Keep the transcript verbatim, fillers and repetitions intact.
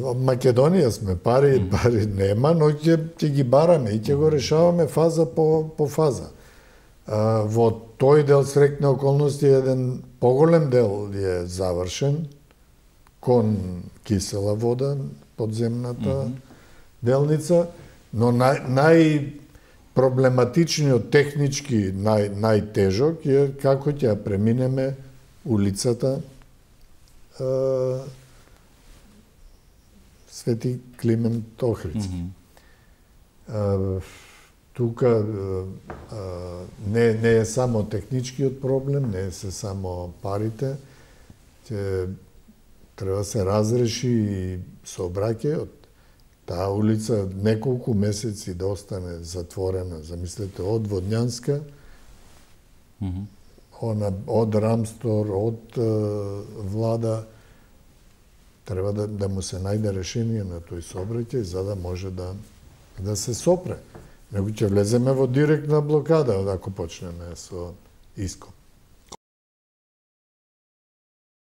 Македонија сме, пари, пари нема, но ќе ќе ги бараме и ќе го решаваме фаза по по фаза. А, во тој дел среќни околности еден поголем дел е завршен кон кисела вода, подземната mm -hmm. делница, но нај, нај проблематичниот технички нај најтежок е како ќе ја преминеме улицата е, Свети Климент Охридски. Mm -hmm. е, тука е, не не е само техничкиот проблем, не е се само парите, ќе треба се разреши и сообраќајот. Таа улица неколку месеци да остане затворена, замислете, од Водњанска, mm -hmm. она, од Рамстор, од е, влада, треба да, да му се најде решение на тој сообраќај за да може да да се сопре. Него ќе влеземе во директна блокада ако почнеме со иско.